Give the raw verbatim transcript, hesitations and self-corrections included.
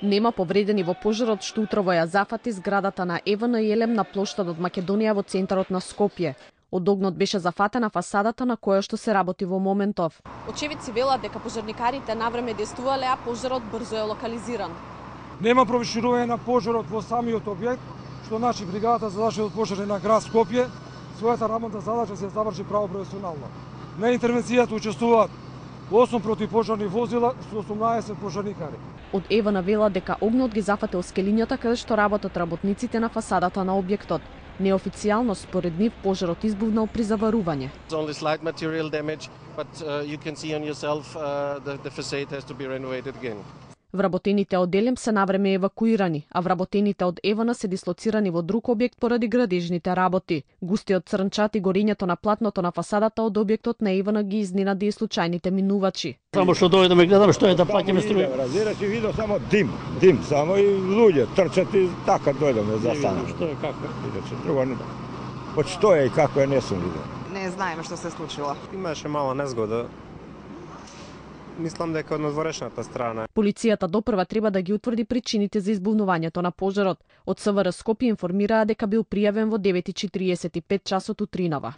Нема повредени во пожарот што утрово ја зафати зградата на ЕВН Елем на плоштадот Македонија во центарот на Скопје. Од огнот беше зафатена фасадата на која што се работи во моментов. Очевидци велат дека пожарникарите навреме действувале, а пожарот брзо е локализиран. Нема провиширување на пожарот во самиот објект, што значи бригадата за заштита од пожари на град Скопје својата работна задача се заврши право професионално. На интервенцијата учествуваат осум противпожарни возила со осумнаесет пожарникари. Од ЕВН велат дека огнот ги зафатил скелињата каде што работат работниците на фасадата на објектот. Неофицијално според нив пожарот избувнал при заварување. Only slight material damage, but uh, you can see on yourself uh, the, the facade has to be renovated again. Вработените од Елем се навреме евакуирани, а вработените од ЕВН се дислоцирани во друг објект поради градежните работи. Густиот црнчат и горењето на платното на фасадата од објектот на ЕВН ги изненади и случајните минувачи. Само што дојде да ме гледам што е да плаќаме струја. Разбираш и видов само дим, дим само и луѓе трчат и така дојдеме за стана. Што е како? Иначе друго не. Од што е и како е не сум видел. Не знаеме што се случило. Имаше мала незгода. Мислам дека од надворешната страна. Полицијата допрва треба да ги утврди причините за избувнувањето на пожарот. Од СВР Скопје информираа дека бил пријавен во девет и четириесет и пет часот утринава.